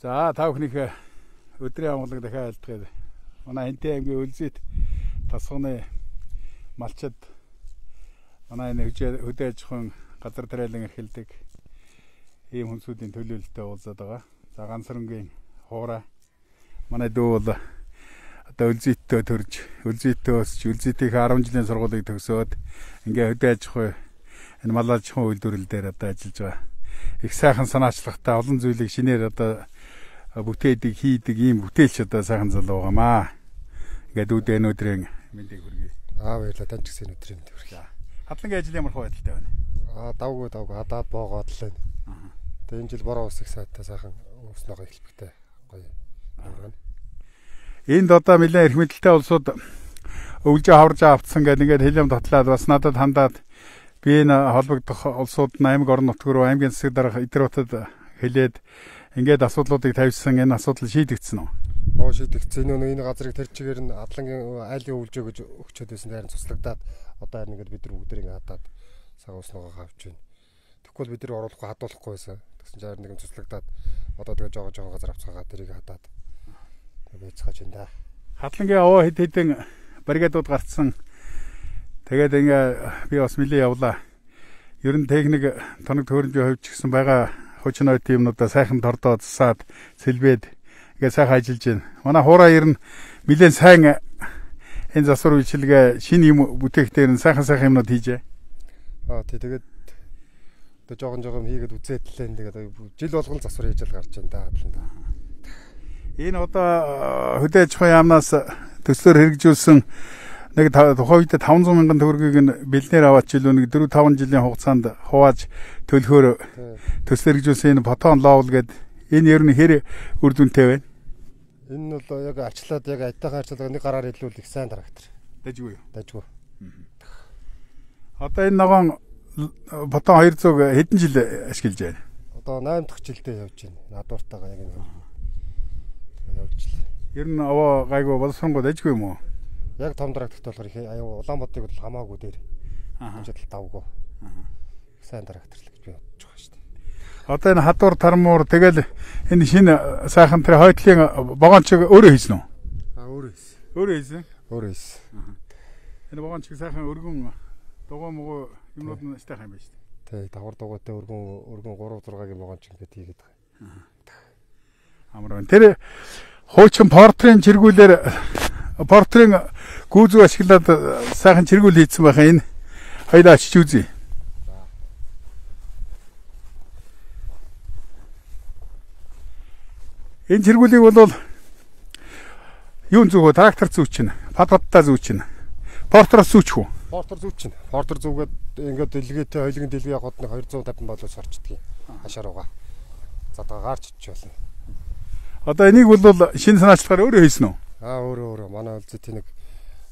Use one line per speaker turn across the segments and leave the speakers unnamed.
За та бүхнийхээ өдрийн амгалан дахиад айлтгая. Манай Хэнтэй аймгийн Үлзийт тасганы малчид манай энэ хөдөө аж ахуйн газар тариалан эрхэлдэг ийм хүнсүүдийн төлөөлөлтөд уулзаад байгаа. За ганцрангийн хуурай манай дүү бол одоо Үлзийттөө төрж, Үлзийттөө өсч, Үлзийтийн 10 жилийн сургуулийг төгсөөд ингээ хөдөө аж ахуй энэ мал аж ахуйн үйлдвэрлэл дээр одоо ажиллаж байгаа. Их сайхан санаачлагтай олон зүйлийг шинээр одоо бүтээдэг, хийдэг ийм бүтээлч одоо сайхан залуу байгаамаа. Ингээд үүдээ өнөөдрийн мэндийг хүргэе.
Баярлалаа. Тань ч гэсэн өнөөдрийн мэндийг хүргэе.
Хатлагын ажил ямар байдалтай байна?
Давгүй хадаад боогоод л байна. Тэгээ энэ жил бороо ус их сайтай сайхан уснаа эхлэхтэй гоё байна.
Энд одоо нэлээд эрх мэдэлтэй улсууд өвлжөө хаварж автсан гэдэг ингээд хэлэм татлаад бас надад хандаад би энэ холбогдох улсууд нь аймаг орон нутг руу аймгийн засаг дарга Идэрбатад хэлээд ингээд асуудлуудыг тавьсан энэ асуудал шийдэгдсэн үү?
Шийдэгдсэн. Энэ газрыг тэр чигээр нь Адлангийн айлын өвлжөө гэж өгчөөд байсан дайран цуслагдаад одоо харин ингээд бид нар бүгд ингэ хадаад сага уснаа хавж байна. Тэгвэл бид нар оруулахгүй хадуулахгүй байсан. Тэгсэн чинь нэг цуслагдаад одоо тэгээ жоо газар авцгаагаа тэрийг хадаад байцгааж байна да.
Хатлангийн овоо хэд хэдэн бригадууд гарцсан. Тэгээд ингээ би бас нэлээ явлаа. Ер нь техник тоног төөрөмжийн хувьд ч гэсэн байгаа хүчин ой тиймнүүдээ сайхан тордоо засаад сэлбээд ингээ сайхан ажиллаж байна. Манай хуурай ер нь нэлээд сайн энэ засвар үйлчилгээ шинэ юм бүтээгтээр нь сайхан юмнууд хийжээ.
Тэгээд одоо жоохон хийгээд үзээд лээ. Тэгээд жил болгон засвар хийж л гарч байна да. Энэ одоо хөдөө аж ахуйн яамнаас төслөөр хэрэгжүүлсэн нэг тухайн үед 500 мянган төгрөгийг нь бэлнээр аваад жилүү нэг 4-5 жилийн хугацаанд хувааж төлөхөөр төслөөр хэрэгжүүлсэн энэ Потон лоовл гэдэг энэ ер нь хэр үр дүнтэй байна? Энэ нь бол яг арчлаад яг айтайхан арчлаад нэг гараар илүүл их сайн трактор.
Дажгүй юу?
Дажгүй.
Одоо энэ ногоон Потон 200 хэдэн жил ашиглаж байна?
Одоо 8 дахь жилдээ явж байна. Надууртайгаа яг энэ явжлаа.
Ер нь овоо гайгүй боловсронгоо дажгүй юм уу?
Яг том тракторт болохоор их аюу Улаанбаатарыг бол хамаагүй дээр. Хэмжээд давгүй. Сайн трактор л гэж би бодож байгаа шүү дээ.
Одоо энэ хадуур тармуур тэгэл энэ шинэ сайхан тэр хойтлын богончиг өөрөө хийсэн үү?
Өөрөө хийсэн.
Өөрөө хийсэн. Энэ богончиг сайхан өргөн дугуй мгуу юмнууд нь стайхан юм байна шүү дээ.
Тий, давхар дугуйтай өргөн 3-6-гийн богонч ингээд хийгээд байгаа.
Амар байна. Тэр хуучин портрийн портрийн гүүзүү ашиглаад сайхан чиргүүл хийсэн байхаа энэ хоёлаа очиж үзье. Энэ чиргүүлийг бол юун зүгөө трактор зүүчин, падпадтай зүүчин. Портроос зүүчих үү?
Портер зүүчин. Портер зүүгээд ингээд дэлгээтэй хоёлын дэлгээ годны 250 болоос орчдгийг хашаар угаа. Задгаа гарч ичж болно. Одоо энийг бол шинэ санаачлагаар өөрөө хийсэн үү? Өөрөө манай Үлзийт нэг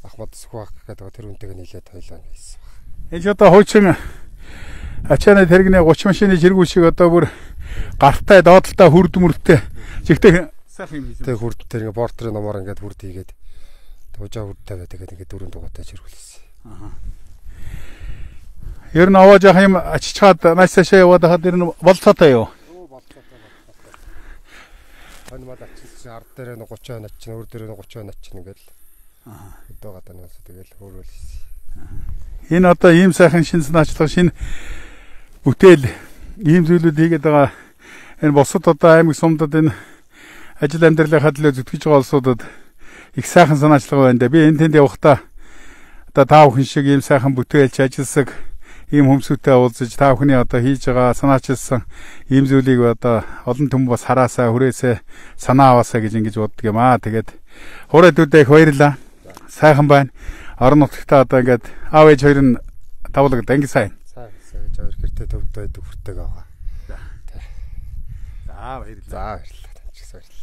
Ахмад Сүхбаах гэдэг тэр үнтэйг нийлээд хойлоо хийсэн.
Энэ одоо хуучин ачааны тэрэгний 30 машины чиргүүл шиг одоо бүр гартай доотлолтой хүрдмөртэй жигтэй сайхан юм хийсэн.
Тэг хүрд тэр ингээ портрийн номоор ингээд хүрд хийгээд тужаа хүрдтэй байдаг ингээд дөрөв дугуйтай чиргүүлсэн.
Ер нь аваа жах юм ачичаад маш цаашаа яваад хаад ер нь болцоотой юу? Энэ мал ачилсан ард дээр нь 30 он ачин, өөр дээр нь 30 он ачин ингээл. Өдөө гадаа нь тэгэл хөөрөөл хийсэн. Энэ одоо ийм сайхан шин санаачлах шин бүтээл ийм зүйлүүд хийгээд байгаа. Энэ босод одоо аймаг сумдад энэ ажил амьдралын хадлаа зүтгэж байгаа улсуудад их сайхан санаачлага байна да. Би энэ тэнд явахдаа одоо та бүхэн шиг ийм сайхан бүтээлч ажилласаг ийм хүмсүүтэй уулзаж та бүхний одоо хийж байгаа санаачилсан ийм зүйлийг одоо олон түмэн бас хараасаа хүрээсээ санаа аваасаа гэж ингэж боддог юм аа. Тэгээд хуурай дүүдээ их баярлаа. Сайхан байна. Орон нутгтаа одоо ингээд аав ээж хоёр нь тавлагд анги сайн.
Сайн хоёр гэртээ төвд байдаг хүртэйг аваа.
За баярлалаа.
За баярлалаа. Таньч баярлалаа.